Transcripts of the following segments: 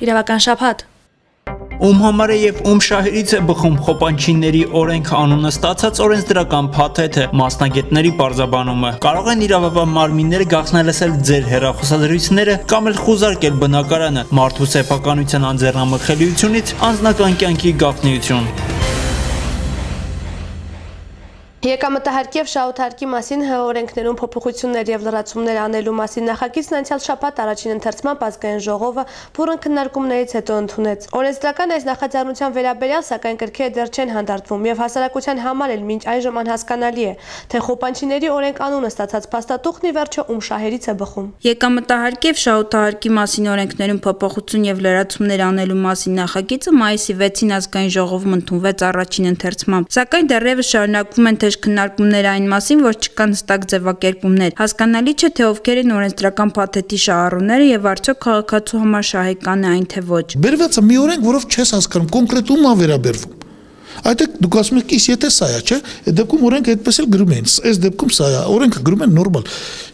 Իրավական շաբաթ։ Ում համար է եւ ում շահերից է բխում Խոպանչիների օրենք անունը ստացած օրենսդրական փաթեթը, մասնագետների պարզաբանումը։ Կարող են իրավաբան մարմինները գաղտնալսել ձեր հեռախոսադրույցները կամ էլ խուզարկել բնակարանը, մարդու սեփականության անձեռնամխելիությունից անձնական կյանքի գաղտնիություն։ Եկամտահարկի եւ շահութարկի մասին օրենքներում փոփոխություններ եւ լրացումներ անելու մասին նախագիծն անցյալ շաբաթ առաջին ընթերցման ազգային ժողովը բուռն քննարկումներից հետո ընդունեց։ Օրենսդրական այս նախաձեռնության վերաբերյալ սակայն կրքերը դեռ չեն հանդարտվում եւ հասարակության համար էլ մինչ այժմ անհասկանալի է, թե Խոպանչիների օրենք անունը ստացած փաստաթուղթն ի վերջո ում շահերից է բխում։ Եկամտահարկի եւ շահութարկի մասին օրենքներում փոփոխություն եւ լրացումներ անելու մասին նախագիծը մայիսի 6-ին ազգային ժողովում ընդունվեց առաջին ընթերցմամբ, սակայն դեռևս շարունակվում են քննարկումներ այն մասին, որ չկան հստակ ձևակերպումներ։ Հասկանալի չէ, թե ովքեր են օրենսդրական փաթեթի շահառուները եւ արդյոք քաղաքացու համար շահեկան է այն թե ոչ։ Բերված է մի օրենք, որով չես հասկանում կոնկրետ ում է վերաբերվում։ Այդտեղ դուք ասում եք, իսկ եթե սա է, չէ՞, այդ դեպքում օրենքը այդպես էլ գրում են, այս դեպքում սա է, օրենքը գրում են նորմալ։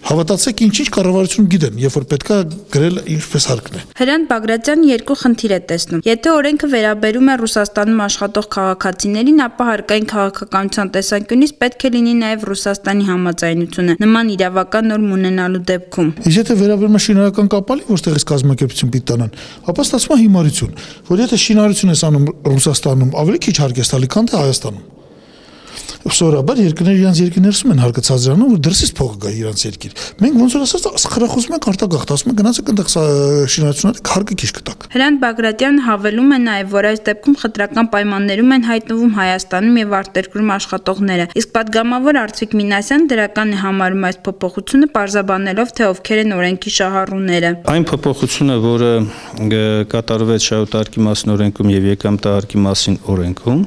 Հավատացեք, ինչ կառավարություն գիտեն, երբ որ պետքա գրել ինչպես հարկն է։ Հրանտ Բագրատյանը երկու խնդիր է տեսնում։ Եթե օրենքը վերաբերում է Ռուսաստանում աշխատող քաղաքացիներին, ապա հարկային քաղաքականության տեսանկյունից պետք է լինի նաև Ռուսաստանի համաձայնությունը նման իրավական նորմ ունենալու դեպքում։ Իսկ եթե վերաբերում է շինարարական կապալի, որտեղ էս կազմակերպություն պիտի տանան, ապա ստացվում է հիմարություն, որ եթե շինարարություն ես անում Ռուսաստանում, ավելի քիչ հարկ է տալի, քան թե Հայաստանում։ Սովորաբար երկրները իրանց երկրներում են հարկը ցածրանում, որ դրսից փողը գա իրանց երկիր։ Մենք ոնց որ ասած խրախուսում ենք արտագաղթ, ասում ենք գնացեք այնտեղ շինարարությունները հարկը քիչ կտակ։ Հրանտ Բագրատյանը հավելում է նաև, որ այս դեպքում խտրական պայմաններում են հայտնվում Հայաստանում եւ արտերկրում աշխատողները։ Իսկ падգամավոր Արծվիկ Մինասյանը դրական է համարում այս փոփոխությունը, պարզաբանելով, թե ովքեր են օրենքի շահառուները։ Այն փոփոխությունը, որը կատարվեց շահութարկի մասին օրենքում եւ եկամտահարկի մասին օրենքում,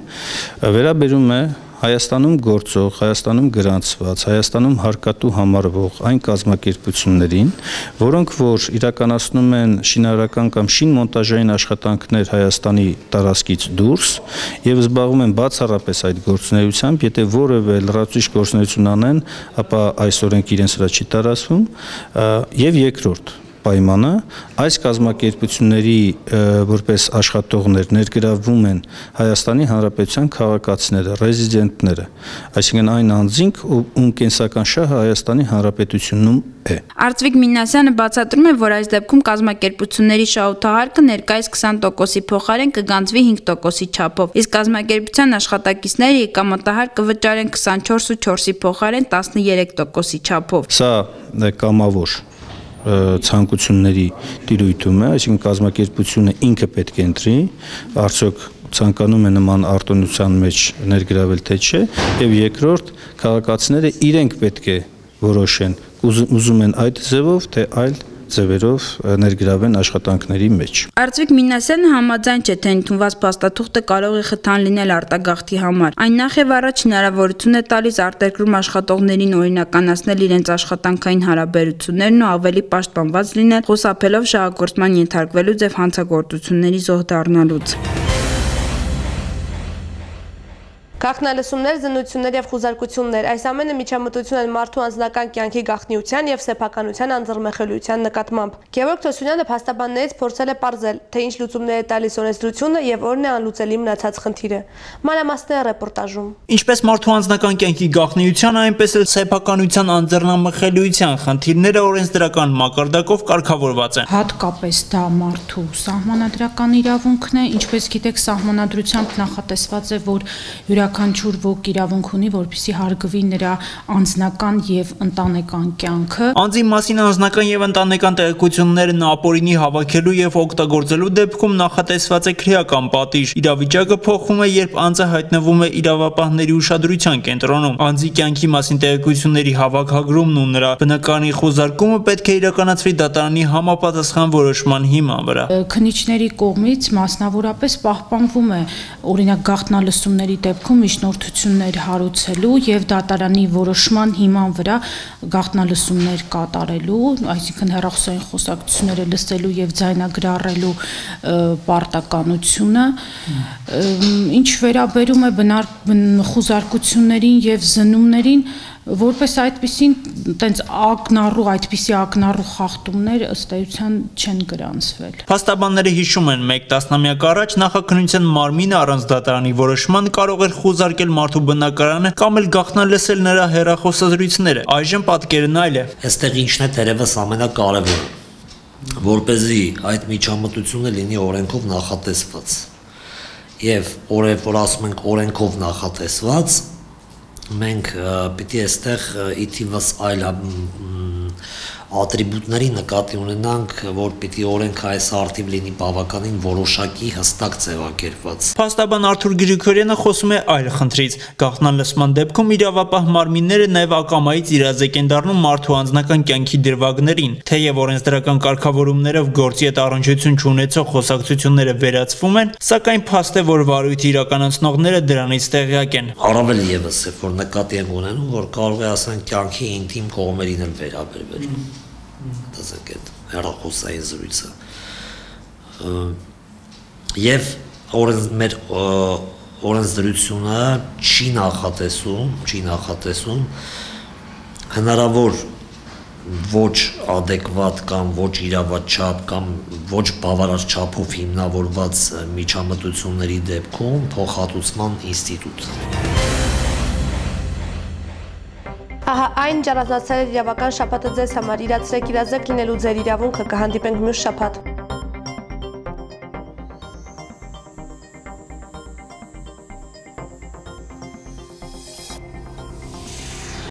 վերաբերում է Հայաստանում գործող, Հայաստանում գրանցված, Հայաստանում հարկատու համարվող այն կազմակերպություններին, որոնք որ իրականացնում են շինարարական կամ շինմոնտաժային աշխատանքներ Հայաստանի տարածքից դուրս եւ զբաղվում են բացառապես այդ գործունեությամբ, եթե որևէ լրացուցիչ գործունեություն անեն, ապա այս օրենքը իրենց վրա չի տարածվում, եւ երկրորդ պայմանը այս կազմակերպությունների որպես աշխատողներ ներգրավվում են Հայաստանի Հանրապետության քաղաքացիները, ռեզիդենտները, այսինքն այն անձինք, ում կենսական շահը Հայաստանի Հանրապետությունում է։ Արծվիկ Մինասյանը բացատրում է, որ այս դեպքում կազմակերպությունների շահութահարկը ներկայիս 20%-ի փոխարեն կգանձվի 5%-ի չափով, իսկ կազմակերպության աշխատակիցները եկամտահարկ կվճարեն 24.4-ի փոխարեն 13%-ի չափով։ Սա կամավոր ցանկությունների տիրույթում է, այսինքն կազմակերպությունը ինքը պետք է ընտրի, արդյոք ցանկանում է նման արտոնության մեջ ներգրավել թե չէ, եւ երկրորդ քաղաքացիները իրենք պետք է որոշեն, ուզում են այդ ձևով, թե այլ ձևերով ներգրավեն աշխատանքների մեջ։ Արծվիկ Մինասյանը համաձայն չէ, թե ընդունված փաստաթուղթը կարող է խթան լինել արտագաղթի համար։ Այն նախ եւ առաջ հնարավորություն է տալիս արտերկրում աշխատողներին օրինականացնել իրենց աշխատանքային հարաբերություններն ու ավելի պաշտպանված լինել, խուսափելով շահագործման ենթարկվելուց եւ հանցագործությունների զոհ դառնալուց։ Գաղտնալսումներ, զննություններ եւ խուզարկություններ, այս ամենը միջամտություն են մարդու անձնական կյանքի գաղտնիության եւ սեփականության անձեռնմխելիության նկատմամբ։ Գևորգ Թոսյունյանը փաստաբաններից փորձել է պարզել, թե ինչ լուծումներ է տալիս օրենսդրությունը եւ որն է անլուծելի մնացած խնդիրը։ Մանրամասները ռեպորտաժում։ Ինչպես մարդու անձնական կյանքի գաղտնիության, այնպես էլ սեփականության անձեռնմխելիության խնդիրները օրենսդրական մակարդակով կարգավորված են։ Հատկապես դա մարդու սահմանադրական իրավունքն է, ինչպես գիտեք, սահմանադրությամբ նախատեսված է, որ յուրաքանչյուր ոք իրավունք ունի, որպեսզի հարգվի նրա անձնական եւ ընտանեկան կյանքը։ Անձի մասին անձնական եւ ընտանեկան տեղեկություններն ապօրինի հավաքելու եւ օգտագործելու դեպքում նախատեսված է քրեական պատիժ։ Իրավիճակը փոխվում է, երբ անձը հայտնվում է իրավապահների ուշադրության կենտրոնում։ Անձի կյանքի մասին տեղեկությունների հավաքագրումն ու նրա բնակարանի խոզարկումը պետք է իրականացվի դատարանի համապատասխան որոշման հիման վրա։ Քննիչների կողմից մասնավորապես պահպանվում է օրինակ գաղտնալսումների դեպքում միջնորդություններ հարուցելու եւ դատարանի որոշման հիման վրա գաղտնալսումներ կատարելու, այսինքն հեռախոսային խոսակցությունները լսելու եւ ձայնագրառելու պարտականությունը, ինչ վերաբերում է խուզարկություններին եւ զննումներին, Որպես այդպիսին տենց այդպիսի ակնառու խախտումներ ըստ էության չեն գրանցվել։ Փաստաբանները հիշում են, 1 տասնամյակ առաջ նախաքննության մարմինը առանց դատարանի որոշման կարող էր խուզարկել մարդու բնակարանը կամ էլ գաղտնալսել նրա հեռախոսազրույցները։ Այժմ պատկերն այլ է։ Այստեղ ինչն է թերևս ամենակարևորը, որպեսզի այդ միջամտությունը լինի օրենքով նախատեսված։ Եվ որ ասում ենք օրենքով նախատեսված, մենք պիտի այստեղ իթիվս այլ ատրիբուտների նկատի ունենանք, որ պիտի օրենքը այս արդիվ լինի բավականին որոշակի հստակ ձևակերպված։ Փաստաբան Արթուր Գրիգորյանը խոսում է այլ խնդրից։ Գաղտնալսման դեպքում իրավապահ մարմինները նաև ակամայից իրազեկ են դառնում մարդու անձնական կյանքի դրվագներին, թեև օրենսդրական կարգավորումներով գործի հետ առնչություն չունեցող խոսակցությունները վերացվում են, սակայն փաստ է, որ վարույթի իրականացնողները դրանից տեղյակ են։ Առավել եւս, որ նկատի եմ ունենում, որ կարող է ասենք կյանքի ինտիմ կողմերին էլ վերաբերվել։ Դասեք այդ հեռախոսային զրույցը։ Եվ մեր օրենսդրությունը չի նախատեսում հնարավոր ոչ adekvat կամ ոչ իրավաչափ կամ ոչ բավարար չափով հիմնավորված միջամտությունների դեպքում փոխհատուցման ինստիտուտ։ Ահա այն ճանաչել իրավական շաբաթը ձեզ համար իրացրեք իրազեկ լինելու ձեր իրավունքը կհանդիպենք մյուս շաբաթ։